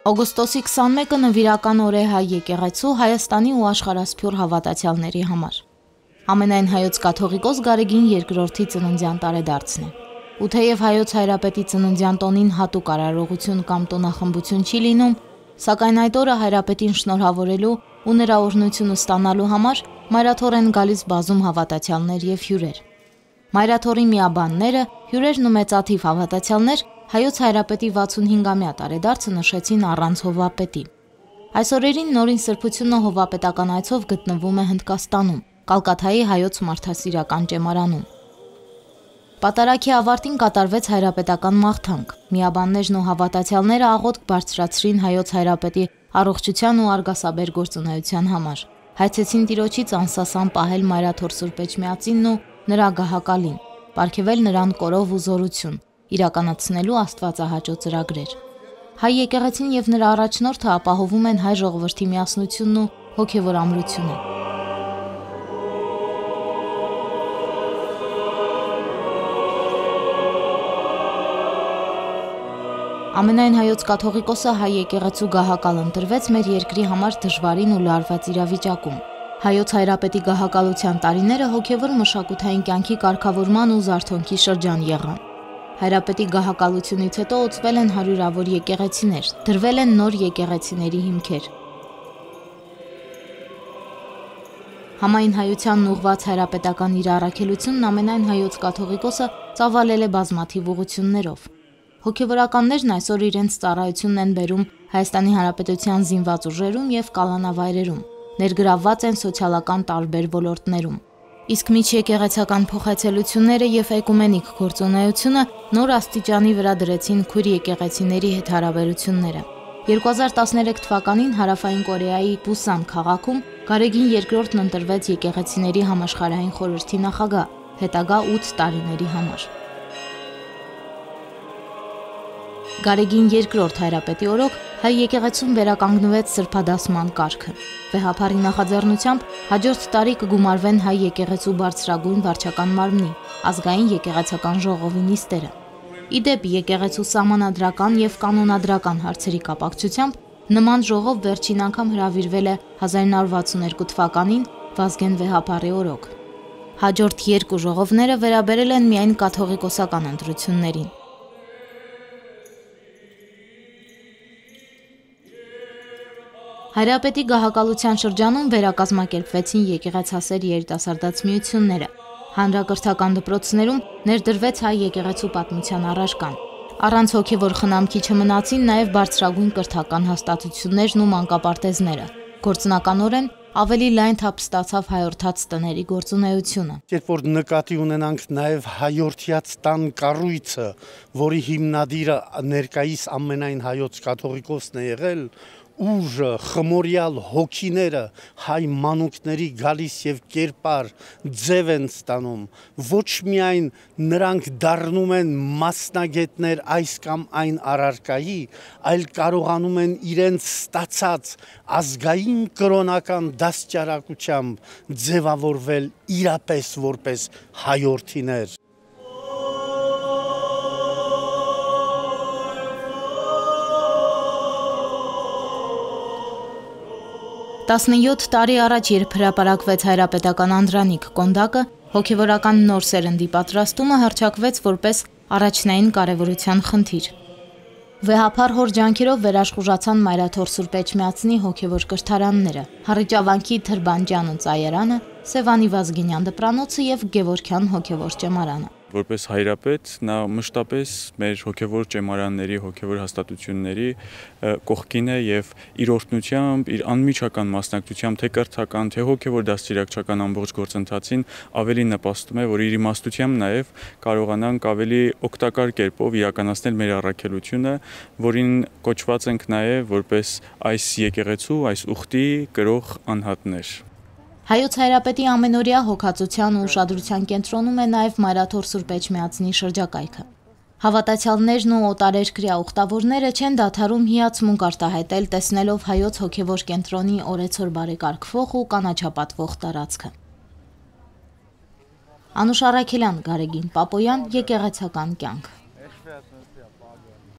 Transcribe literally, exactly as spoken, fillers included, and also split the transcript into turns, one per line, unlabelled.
Օգոստոսի քսանմեկը նվիրական օր է հայ եկեղեցու, Հայաստանի ու աշխարհասփյուռ հավատացյալների համար։ Ամենայն հայոց կաթողիկոս Գարեգին երկրորդի ծննդյան տարեդարձն է։ Ու թեև հայոց հայրապետի ծննդյան տոնին հատուկ արարողություն կամ տոնախմբություն չի լինում, սակայն այդ օրը հայրապետին շնորհավորելու ու նրա օրհնությունը ստանալու համար մայրաթոռ են գալիս բազում հավատացյալներ եւ հյուրեր։ Մայրաթոռի միաբանները, հյուրերն ու մեծաթիվ հավատացյալներ հայոց հայրապետի վաթսունհինգամյա տարեդարձը նշեցին առանց հովվապետի։ Այս օրերին նորին սրբությունը հովվապետական այցով գտնվում է Հնդկաստանում, Կալկաթայի հայոց մարդասիրական ճեմարանում։ Պատարագի ավարտին կատարվեց հայրապետական մաղթանք։ Միաբաններն ու հավատացյալները աղոթք բարձրացրին հայոց հայրապետի առողջության ու արգասաբեր գործունեության համար։ Հայցեցին Տիրոջից անսասան պահել մայրաթոռ Սուրբ Էջմիածինն ու նրա գահակալին, պարգևել նրան կորով ու զորություն, իրականացնելու աստվածահաճո ծրագրեր։ Հայ եկեղեցին եւ նրա առաջնորդը ապահովում են հայ ժողովրդի միասնությունն ու հոգեվոր ամրությունը։ Ամենայն հայոց կաթողիկոսը հայ եկեղեցու գահակալ ընտրվեց մեր երկրի համար դժվարին ու լարված իրավիճակում։ Հայոց հայրապետի գահակալության տարիները հոգևոր մշակութային կյանքի կարգավորման ու զարթոնքի շրջան եղան։ Հայրապետի գահակալությունից հետո օծվել են հարյուրավոր եկեղեցիներ, դրվել են նոր եկեղեցիների հիմքեր։ Համայն հայությանն ուղղված հայրապետական իր առաքելությունն ամենայն հայոց կաթողիկոսը ծավալել է բազմաթիվ ուղղություններով։ Հոգևորականներն այսօր իրենց ծառայությունն են բերում Հայաստանի Հանրապետության զինված ուժերում եւ կալանավայրերում, ներգրավված են սոցիալական տարբեր ոլորտներում։ Իսկ միջեկեղեցական փոխայցելությունները եւ էկումենիկ գործունեությունը նոր աստիճանի վրա դրեցին քույր եկեղեցիների հետ հարաբերությունները։ երկու հազար տասներեք թվականին Հարավային Կորեայի Պուսան քաղաքում Գարեգին երկրորդն ընտրվեց եկեղեցիների համաշխարհային խորհրդի նախագահ, հետագա ութ տարիների համար։ Գարեգին երկրորդ հայրապետի օրոք հայ եկեղեցում վերականգնվեց սրբադասման կարգը։ Վեհափարի նախաձեռնությամբ հաջորդ տարի կգումարվեն հայ եկեղեցու բարձրագույն վարչական մարմնի, ազգային եկեղեցական ժողովի նիստերը։ Իդեպ եկեղեցու սահմանադրական եւ կանոնադրական հարցերի կապակցությամբ նման ժողով վերջին անգամ հրավիրվել է հազար նոր վաթսուներկու թվականին Վազգեն Վեհափարի օրոք։ Հաջորդ երկու ժողովները վերաբերել են միայն կաթողիկոսական ընտրություններին։ Հայրապետի գահակալության շրջանում վերակազմակերպվեցին եկեղեցասեր երիտասարդաց միությունները։ Հանրակրթական դպրոցներում ներդրվեց հայ եկեղեցու պատմության առարկան։ Առանց հոգևոր խնամքի չմնացին նաև բարձրագույն կրթական հաստատություններն ու մանկապարտեզները։ Գործնականորեն ավելի լայն թափ ստացավ հայորդաց տների գործունեությունը։
Երբ որ նկատի ունենանք նաև հայորդյաց տան կառույցը, որի հիմնադիրը ներկայիս ամենայն հայոց կաթողիկոսն է եղել, ուժը, խմորյալ հոգիները հայ մանուկների գալիս եւ կերպար ձև են ստանում, ոչ միայն նրանք դառնում են մասնագետներ այս կամ այն առարկայի, այլ կարողանում են իրենց ստացած ազգային կրոնական դաստիարակությամբ ձևավորվել իրապես որպես հայորդիներ։
տասնյոթ տարի առաջ, երբ հրապարակվեց հայրապետական անդրանիկ Կոնդակը, հոգևորական նոր սերնդի պատրաստումը հռչակվեց որպես առաջնային կարևորության խնդիր։ Վեհափար հոր ջանքերով վերաշխուժացան մայրաթոռ Սուրբ Էջմիածնի հոգևոր կրթարանները, Հառիճավանքի Թրբանջյանը ծայարանը, Սևանի Վազգենյան դպրանոցը եւ Գևորգյան հոգևոր ճեմարանը։
Որպես հայրապետ նա մշտապես մեր հոգևոր ճեմարանների, հոգևոր հաստատությունների կողքին է եւ իր օրհնությամբ, իր անմիջական մասնակցությամբ թե կրթական, թե հոգևոր դաստիարակչական ամբողջ գործընթացին ավելի նպաստում է, որ իր իմաստությամբ նաեւ կարողանանք ավելի օգտակար կերպով իրականացնել մեր առաքելությունը, որին կոչված ենք նաեւ որպես այս եկեղեցու, այս ուխտի կրող անհատներ։
Հայոց հայրապետի ամենօրյա հոգացության ու ուշադրության կենտրոնում է նաև մայրաթոռ Սուրբ Էջմիածնի շրջակայքը։ Հավատացյալներն ու օտարերկրյա ուխտավորները չեն դադարում հիացմունք արտահայտել տեսնելով հայոց հոգևոր կենտրոնի օրեցօր բարեկարգվող ու կանաչապատվող տարածքը։ Անուշ Առաքելյան, Գարեգին Պապոյան, եկեղեցական կյանք։